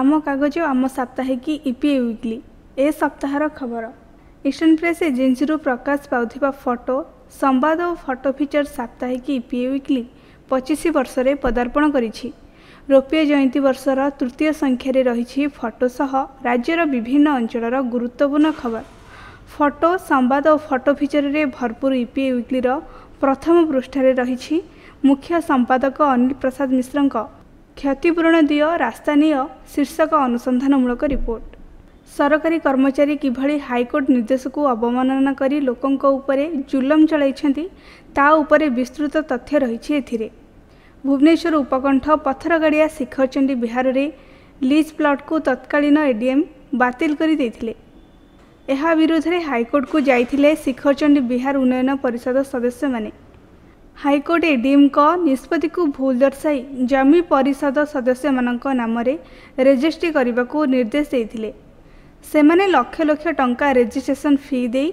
ଆମ କାଗଜ ଆମ ସାପ୍ତାହିକୀ ଇପିଏ ୱିକ୍ଲି ଏ ସପ୍ତାହର ଖବର। ଇଷ୍ଟର୍ଣ୍ଣ ପ୍ରେସ୍ ଏଜେନ୍ସିରୁ ପ୍ରକାଶ ପାଉଥିବା ଫଟୋ ସମ୍ବାଦ ଓ ଫଟୋ ଫିଚର ସାପ୍ତାହିକୀ ଇପିଏ ୱିକ୍ଲି 25 ବର୍ଷରେ ପଦାର୍ପଣ କରିଛି। ରୌପ୍ୟ ଜୟନ୍ତୀ ବର୍ଷର ତୃତୀୟ ସଂଖ୍ୟାରେ ରହିଛି ଫଟୋ ସହ ରାଜ୍ୟର ବିଭିନ୍ନ ଅଞ୍ଚଳର ଗୁରୁତ୍ୱପୂର୍ଣ୍ଣ ଖବର। ଫଟୋ ସମ୍ବାଦ ଓ ଫଟୋ ଫିଚରରେ ଭରପୁର ଇପିଏ ୱିକ୍ଲିର ପ୍ରଥମ ପୃଷ୍ଠାରେ ରହିଛି ମୁଖ୍ୟ ସମ୍ପାଦକ ଅନିଲ ପ୍ରସାଦ ମିଶ୍ରଙ୍କ କ୍ଷତିପୂରଣ ଦିଅ ରାସ୍ତା ନିଅ ଶୀର୍ଷକ ଅନୁସନ୍ଧାନମୂଳକ ରିପୋର୍ଟ। ସରକାରୀ କର୍ମଚାରୀ କିଭଳି ହାଇକୋର୍ଟ ନିର୍ଦ୍ଦେଶକୁ ଅବମାନନା କରି ଲୋକଙ୍କ ଉପରେ ଜୁଲମ ଚଳାଇଛନ୍ତି, ତା ଉପରେ ବିସ୍ତୃତ ତଥ୍ୟ ରହିଛି ଏଥିରେ। ଭୁବନେଶ୍ୱର ଉପକଣ୍ଠ ପଥରଗାଡ଼ିଆ ଶିଖରଚଣ୍ଡୀ ବିହାରରେ ଲିଜ୍ ପ୍ଲଟ୍କୁ ତତ୍କାଳୀନ ଏଡିଏମ୍ ବାତିଲ କରି ଦେଇଥିଲେ। ଏହା ବିରୋଧରେ ହାଇକୋର୍ଟକୁ ଯାଇଥିଲେ ଶିଖରଚଣ୍ଡୀ ବିହାର ଉନ୍ନୟନ ପରିଷଦ ସଦସ୍ୟମାନେ। ହାଇକୋର୍ଟ ଏଡିଏମ୍ଙ୍କ ନିଷ୍ପତ୍ତିକୁ ଭୁଲ ଦର୍ଶାଇ ଜମି ପରିଷଦ ସଦସ୍ୟମାନଙ୍କ ନାମରେ ରେଜିଷ୍ଟ୍ରି କରିବାକୁ ନିର୍ଦ୍ଦେଶ ଦେଇଥିଲେ। ସେମାନେ ଲକ୍ଷ ଲକ୍ଷ ଟଙ୍କା ରେଜିଷ୍ଟ୍ରେସନ ଫି ଦେଇ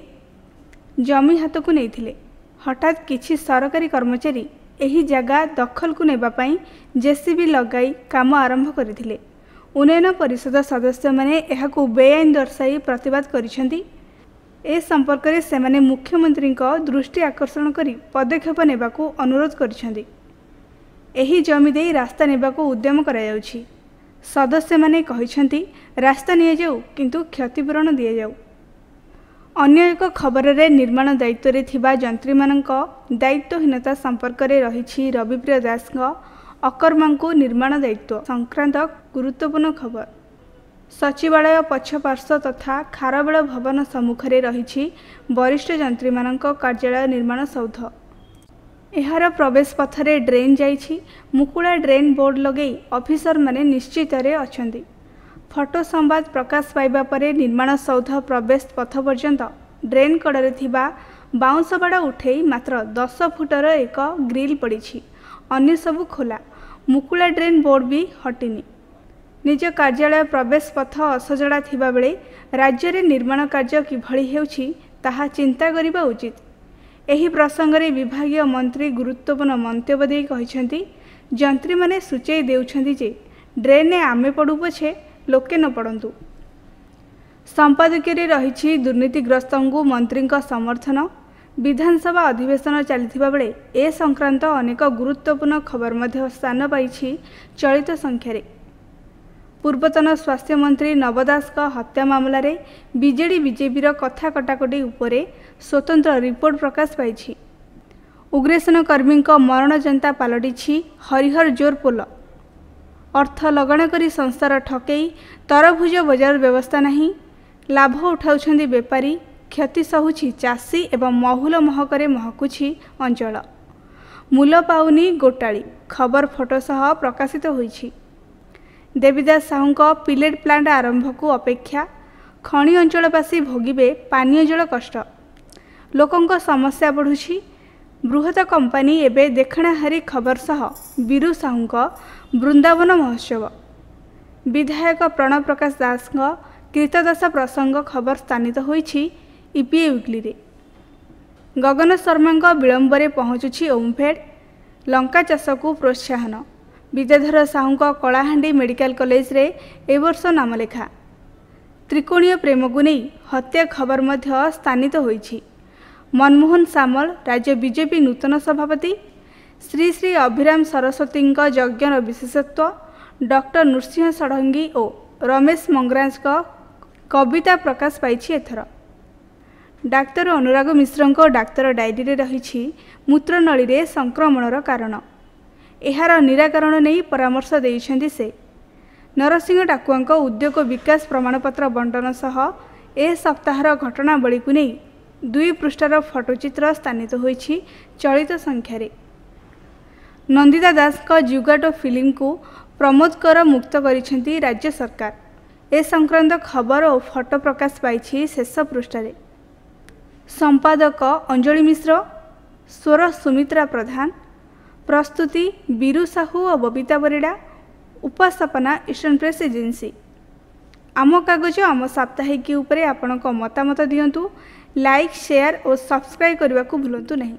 ଜମି ହାତକୁ ନେଇଥିଲେ। ହଠାତ୍ କିଛି ସରକାରୀ କର୍ମଚାରୀ ଏହି ଜାଗା ଦଖଲକୁ ନେବା ପାଇଁ ଜେସିବି ଲଗାଇ କାମ ଆରମ୍ଭ କରିଥିଲେ। ଉନ୍ନୟନ ପରିଷଦ ସଦସ୍ୟମାନେ ଏହାକୁ ବେଆଇନ ଦର୍ଶାଇ ପ୍ରତିବାଦ କରିଛନ୍ତି। ଏ ସମ୍ପର୍କରେ ସେମାନେ ମୁଖ୍ୟମନ୍ତ୍ରୀଙ୍କ ଦୃଷ୍ଟି ଆକର୍ଷଣ କରି ପଦକ୍ଷେପ ନେବାକୁ ଅନୁରୋଧ କରିଛନ୍ତି। ଏହି ଜମି ଦେଇ ରାସ୍ତା ନେବାକୁ ଉଦ୍ୟମ କରାଯାଉଛି। ସଦସ୍ୟମାନେ କହିଛନ୍ତି, ରାସ୍ତା ନିଆଯାଉ, କିନ୍ତୁ କ୍ଷତିପୂରଣ ଦିଆଯାଉ। ଅନ୍ୟ ଏକ ଖବରରେ ନିର୍ମାଣ ଦାୟିତ୍ୱରେ ଥିବା ଯନ୍ତ୍ରୀମାନଙ୍କ ଦାୟିତ୍ୱହୀନତା ସମ୍ପର୍କରେ ରହିଛି ରବିପ୍ରିୟ ଦାସଙ୍କ ଅକର୍ମାଙ୍କୁ ନିର୍ମାଣ ଦାୟିତ୍ୱ ସଂକ୍ରାନ୍ତ ଗୁରୁତ୍ୱପୂର୍ଣ୍ଣ ଖବର। ସଚିବାଳୟ ପଛ ପାର୍ଶ୍ୱ ତଥା ଖାରବେଳ ଭବନ ସମ୍ମୁଖରେ ରହିଛି ବରିଷ୍ଠ ଯନ୍ତ୍ରୀମାନଙ୍କ କାର୍ଯ୍ୟାଳୟ ନିର୍ମାଣ ସୌଧ। ଏହାର ପ୍ରବେଶ ପଥରେ ଡ୍ରେନ୍ ଯାଇଛି। ମୁକୁଳା ଡ୍ରେନ୍ ବୋର୍ଡ ଲଗାଇ ଅଫିସରମାନେ ନିଶ୍ଚିତରେ ଅଛନ୍ତି। ଫଟୋ ସମ୍ବାଦ ପ୍ରକାଶ ପାଇବା ପରେ ନିର୍ମାଣ ସୌଧ ପ୍ରବେଶ ପଥ ପର୍ଯ୍ୟନ୍ତ ଡ୍ରେନ୍ କଡ଼ରେ ଥିବା ବାଉଁଶ ବାଡ଼ ଉଠେଇ ମାତ୍ର 10 ଫୁଟର ଏକ ଗ୍ରିଲ୍ ପଡ଼ିଛି। ଅନ୍ୟ ସବୁ ଖୋଲା। ମୁକୁଳା ଡ୍ରେନ୍ ବୋର୍ଡ ବି ହଟିନି। ନିଜ କାର୍ଯ୍ୟାଳୟ ପ୍ରବେଶ ପଥ ଅସଜଡ଼ା ଥିବାବେଳେ ରାଜ୍ୟରେ ନିର୍ମାଣ କାର୍ଯ୍ୟ କିଭଳି ହେଉଛି, ତାହା ଚିନ୍ତା କରିବା ଉଚିତ। ଏହି ପ୍ରସଙ୍ଗରେ ବିଭାଗୀୟ ମନ୍ତ୍ରୀ ଗୁରୁତ୍ୱପୂର୍ଣ୍ଣ ମନ୍ତବ୍ୟ ଦେଇ କହିଛନ୍ତି, ଯନ୍ତ୍ରୀମାନେ ସୂଚାଇ ଦେଉଛନ୍ତି ଯେ ଡ୍ରେନ୍ରେ ଆମେ ପଡ଼ୁ ପଛେ ଲୋକେ ନ ପଡ଼ନ୍ତୁ। ସମ୍ପାଦକୀୟରେ ରହିଛି ଦୁର୍ନୀତିଗ୍ରସ୍ତଙ୍କୁ ମନ୍ତ୍ରୀଙ୍କ ସମର୍ଥନ। ବିଧାନସଭା ଅଧିବେଶନ ଚାଲିଥିବା ବେଳେ ଏ ସଂକ୍ରାନ୍ତ ଅନେକ ଗୁରୁତ୍ୱପୂର୍ଣ୍ଣ ଖବର ମଧ୍ୟ ସ୍ଥାନ ପାଇଛି ଚଳିତ ସଂଖ୍ୟାରେ। ପୂର୍ବତନ ସ୍ୱାସ୍ଥ୍ୟମନ୍ତ୍ରୀ ନବ ଦାସଙ୍କ ହତ୍ୟା ମାମଲାରେ ବିଜେଡି ବିଜେପିର କଥା କଟାକଟି ଉପରେ ସ୍ୱତନ୍ତ୍ର ରିପୋର୍ଟ ପ୍ରକାଶ ପାଇଛି। ଉଗ୍ରସେନ କର୍ମୀଙ୍କ ମରଣଯନ୍ତା ପାଲଟିଛି ହରିହର ଜୋର ପୋଲ। ଅର୍ଥ ଲଗାଣ କରି ସଂସ୍ଥାର ଠକେଇ, ତରଭୁଜ ବଜାର ବ୍ୟବସ୍ଥା ନାହିଁ, ଲାଭ ଉଠାଉଛନ୍ତି ବେପାରୀ, କ୍ଷତି ସହୁଛି ଚାଷୀ ଏବଂ ମହୁଲ ମହକରେ ମହକୁଛି ଅଞ୍ଚଳ। ମୂଲ ପାଉନି ଗୋଟାଳି ଖବର ଫଟୋ ସହ ପ୍ରକାଶିତ ହୋଇଛି। ଦେବୀଦାସ ସାହୁଙ୍କ ପିଲେଟ୍ ପ୍ଲାଣ୍ଟ ଆରମ୍ଭକୁ ଅପେକ୍ଷା, ଖଣି ଅଞ୍ଚଳବାସୀ ଭୋଗିବେ ପାନୀୟ ଜଳ କଷ୍ଟ। ଲୋକଙ୍କ ସମସ୍ୟା ବଢ଼ୁଛି, ବୃହତ କମ୍ପାନୀ ଏବେ ଦେଖଣାହାରୀ ଖବର ସହ ବୀରୁ ସାହୁଙ୍କ ବୃନ୍ଦାବନ ମହୋତ୍ସବ, ବିଧାୟକ ପ୍ରଣବ ପ୍ରକାଶ ଦାସଙ୍କ କ୍ରୀତଦାସ ପ୍ରସଙ୍ଗ ଖବର ସ୍ଥାନିତ ହୋଇଛି ଇପିଏ ୱିକ୍ଲିରେ। ଗଗନ ଶର୍ମାଙ୍କ ବିଳମ୍ବରେ ପହଞ୍ଚୁଛି ଓମ୍ଫେଡ୍, ଲଙ୍କା ଚାଷକୁ ପ୍ରୋତ୍ସାହନ, ବିଦ୍ୟାଧର ସାହୁଙ୍କ କଳାହାଣ୍ଡି ମେଡିକାଲ କଲେଜରେ ଏ ବର୍ଷ ନାମଲେଖା, ତ୍ରିକୋଣୀୟ ପ୍ରେମକୁ ନେଇ ହତ୍ୟା ଖବର ମଧ୍ୟ ସ୍ଥାନିତ ହୋଇଛି। ମନମୋହନ ସାମଲ ରାଜ୍ୟ ବିଜେପି ନୂତନ ସଭାପତି, ଶ୍ରୀ ଶ୍ରୀ ଅଭିରାମ ସରସ୍ୱତୀଙ୍କ ଯଜ୍ଞର ବିଶେଷତ୍ୱ, ଡକ୍ଟର ନୃସିଂହ ଷଡ଼ଙ୍ଗୀ ଓ ରମେଶ ମଙ୍ଗରାଜଙ୍କ କବିତା ପ୍ରକାଶ ପାଇଛି ଏଥର। ଡାକ୍ତର ଅନୁରାଗ ମିଶ୍ରଙ୍କ ଡାକ୍ତର ଡାଏରୀରେ ରହିଛି ମୂତ୍ରନଳୀରେ ସଂକ୍ରମଣର କାରଣ, ଏହାର ନିରାକରଣ ନେଇ ପରାମର୍ଶ ଦେଇଛନ୍ତି ସେ। ନରସିଂହ ଡାକୁଆଙ୍କ ଉଦ୍ୟୋଗ ବିକାଶ ପ୍ରମାଣପତ୍ର ବଣ୍ଟନ ସହ ଏ ସପ୍ତାହର ଘଟଣାବଳୀକୁ ନେଇ 2 ପୃଷ୍ଠାର ଫଟୋଚିତ୍ର ସ୍ଥାନିତ ହୋଇଛି ଚଳିତ ସଂଖ୍ୟାରେ। ନନ୍ଦିତା ଦାସଙ୍କ ଜୁଗାଟୋ ଫିଲ୍ମକୁ ପ୍ରମୋଦ କର ମୁକ୍ତ କରିଛନ୍ତି ରାଜ୍ୟ ସରକାର। ଏ ସଂକ୍ରାନ୍ତ ଖବର ଓ ଫଟୋ ପ୍ରକାଶ ପାଇଛି ଶେଷ ପୃଷ୍ଠାରେ। ସମ୍ପାଦକ ଅଞ୍ଜଳି ମିଶ୍ର, ସ୍ୱର ସୁମିତ୍ରା ପ୍ରଧାନ, ପ୍ରସ୍ତୁତି ବୀରୁ ସାହୁ ଓ ବବିତା ପରିଡ଼ା, ଉପସ୍ଥାପନା ଇଷ୍ଟର୍ଣ୍ଣ ପ୍ରେସ୍ ଏଜେନ୍ସି। ଆମ କାଗଜ ଆମ ସାପ୍ତାହିକୀ ଉପରେ ଆପଣଙ୍କ ମତାମତ ଦିଅନ୍ତୁ। ଲାଇକ୍, ସେୟାର ଓ ସବସ୍କ୍ରାଇବ୍ କରିବାକୁ ଭୁଲନ୍ତୁ ନାହିଁ।